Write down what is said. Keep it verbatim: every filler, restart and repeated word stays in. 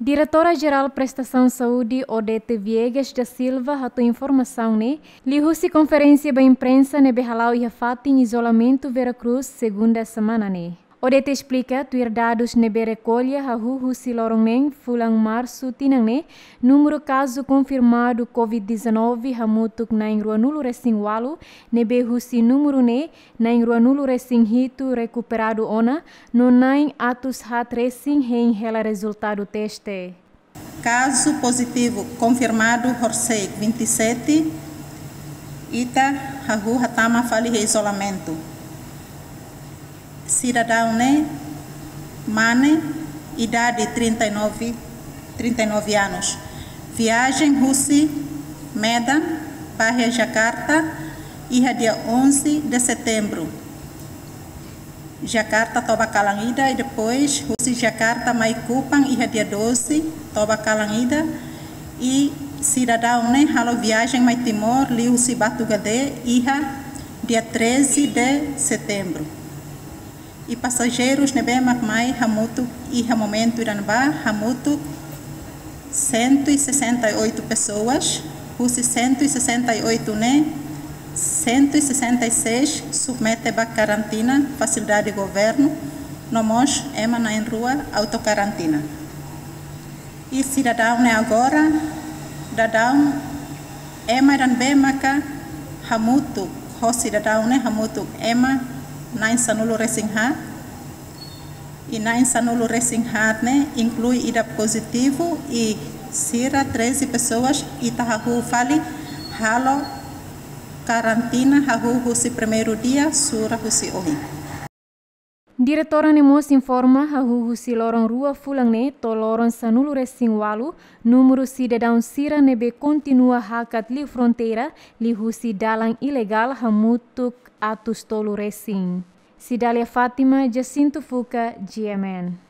Diretora Jerál Prestasaun Saúde, Odete Viegas da Silva, hato'o informasaun ne'e liuhusi konferénsia ba imprensa ne'ebé hala'o iha fatin izolamentu Vera Cruz, segunda semana ne'e. Odete esplika, tuir dadus ne'ebé rekolla hahú husi loron neen fulan Marsu tinan ne'e, númeru kazu konfirmadu COVID dezanove hamutuk na'in ruanulu resin ualu, ne'ebé husi númeru ne'e na'in ruanulu resin hitu rekuperadu ona, no na'in atus haat resin hein hela rezultadu teste. Kazu pozitivu konfirmadu horisehik vinte e sete, ita hahú hatama fali iha izolamentu. Sidadaun ne'e mane, idade trinta e nove, trinta e nove anos. Viajen husi Medan ba iha Jakarta iha dia onze de setembro. Jakarta to'o ba kalan ida i depois husi Jakarta mai Kupang iha dia doze to'o ba kalan ida, i sidadaun ne'e halo viajen mai Timor liuhusi Batugade iha dia treze de setembro. I pasajeirus ne'ebé mak mai hamutuk iha momentu ida-ne'ebá hamutuk cento e sessenta e oito pessoas, husi cento e sessenta e oito ne'e, cento e sessenta e seis submete ba karantina fasilidade governu, no mós ema na'in-rua autokarantina. I sidadaun ne'e agora, daudaun ema ida-ne'ebé maka hamutuk ho sidadaun ne'e hamutuk ema na'in-sanulu resin haat, i na'in-sanulu resin haat ne'e inklui ida pozitivu i sira treze pessoas ita hahú fali halo karantina hahú husi primeiru dia sura husi ohin. Diretora ne'e mós informa, hahú husi loron rua fulan ne'e to'o loron sanulu resin ualu, númeru sidadaun sira ne'ebé kontinua hakat liu fronteira liuhusi dalan ilegál hamutuk atus tolu resin. Cidália Fátima, Jacinto Fuca, G M N.